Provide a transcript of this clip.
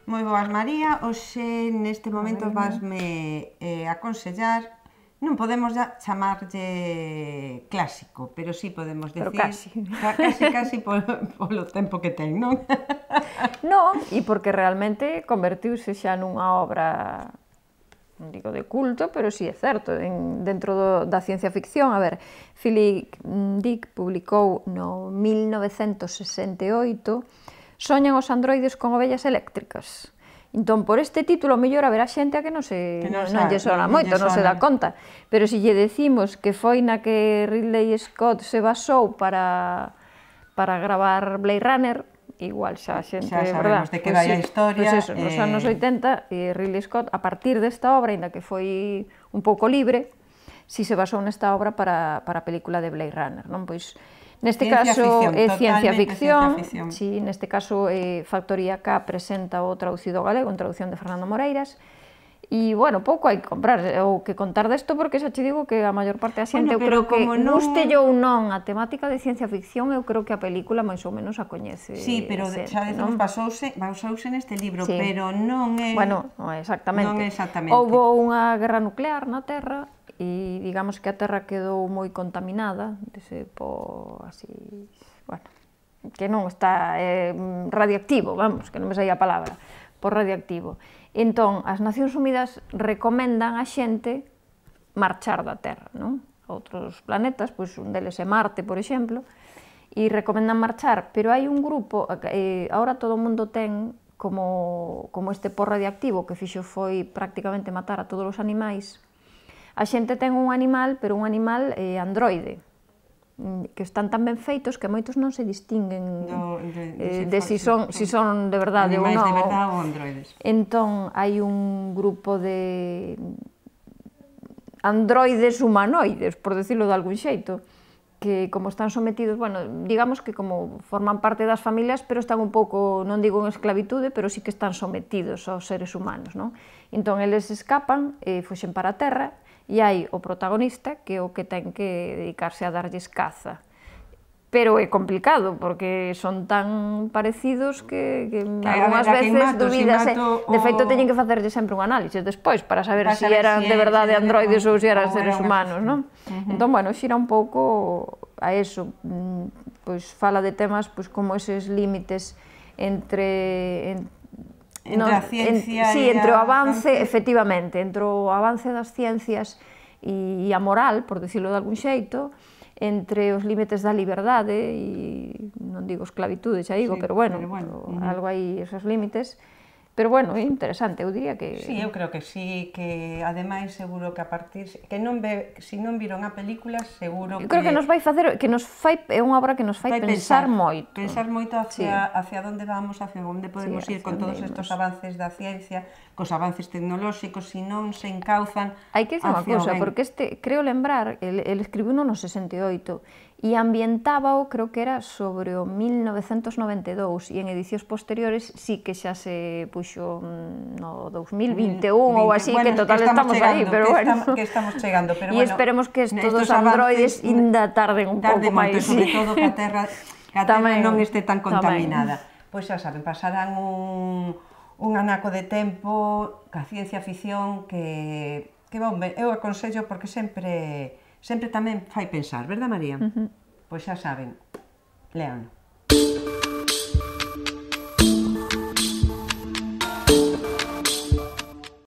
Moi boas, María. Hoxe, neste momento, vasme aconsellar, non podemos chamarlle clásico, pero sí podemos decir... Casi polo tempo que ten, non? Non, e porque realmente convertiuse xa nunha obra, non digo de culto, pero sí é certo, dentro da ciencia ficción. A ver, Philip Dick publicou no 1968 Soñan os androides con ovellas eléctricas. Entón, por este título, mellor haberá xente a que non lle sona moito, non se dá conta. Pero se lle decimos que foi na que Ridley Scott se basou para gravar Blade Runner, igual xa xente, verdad? Xa sabemos de que vai a historia. Pois eso, nos anos 80, Ridley Scott, a partir desta obra, ainda que foi un pouco libre, si se basou nesta obra para a película de Blade Runner, non? Pois, neste caso é ciencia ficción, si, neste caso Factoría K presenta o traducido galego, en traducción de Fernando Moreiras, e, bueno, pouco hai que comprar ou que contar desto, porque xa che digo que a maior parte da xente, eu creo que guste ou non a temática de ciencia ficción, eu creo que a película máis ou menos a coñece. Sí, pero xa decimos, basouse neste libro, pero non é... Bueno, non é exactamente. Houbo unha guerra nuclear na Terra, e digamos que a Terra quedou moi contaminada, así, bueno, que non está radioactivo, vamos, que non me saía a palabra, por radioactivo. Entón, as Nacións Unidas recomendan a xente marchar da Terra, non? A outros planetas, pois un deles é Marte, por exemplo, e recomendan marchar, pero hai un grupo, agora todo o mundo ten como este por radioactivo que fixo foi prácticamente matar a todos os animais. A xente ten un animal, pero un animal androide, que están tan ben feitos que moitos non se distinguen de si son de verdade ou non. Animais de verdade ou androides. Entón, hai un grupo de androides humanoides, por decirlo de algún xeito, que como están sometidos, bueno, digamos que como forman parte das familias, pero están un pouco, non digo en esclavitude, pero sí que están sometidos aos seres humanos, non? Entón, eles escapan e fuxen para a Terra, e hai o protagonista que é o que ten que dedicarse a darlles caza. Pero é complicado, porque son tan parecidos que algunhas veces dubidas. De feito, teñen que facerlle sempre un análise despois para saber se eran de verdade androides ou se eran seres humanos, non? Entón, bueno, xira un pouco a eso, pois fala de temas como eses límites entre a ciencia e entre o avance, efectivamente, entre o avance das ciencias e a moral, por dicirlo de algún xeito, entre os límites da liberdade e, non digo esclavitude, xa digo, pero bueno, algo hai esos límites. Pero, bueno, é interesante, eu diría que... Sí, eu creo que sí, que ademais seguro que a partir... que se non viron a película, seguro que... Eu creo que nos vai facer, é unha obra que nos fai pensar moito. Pensar moito hacia onde vamos, hacia onde podemos ir con todos estes avances da ciencia, cos avances tecnolóxicos, se non se encauzan... Hai que dicir unha cousa, porque creo lembrar, el escribiu no 68, e ambientábao, creo que era sobre o 1992, e en edicións posteriores sí que xa se puxo no 2021 ou así, que total estamos aí, pero bueno. Que estamos chegando, pero bueno. E esperemos que estos androides ainda tarden un pouco máis. Sobre todo que a Terra non este tan contaminada. Pois xa saben, pasarán un anaco de tempo ca ciencia ficción que, eu aconsello porque sempre tamén fai pensar, verdad, María? Pois xa saben, léanlo.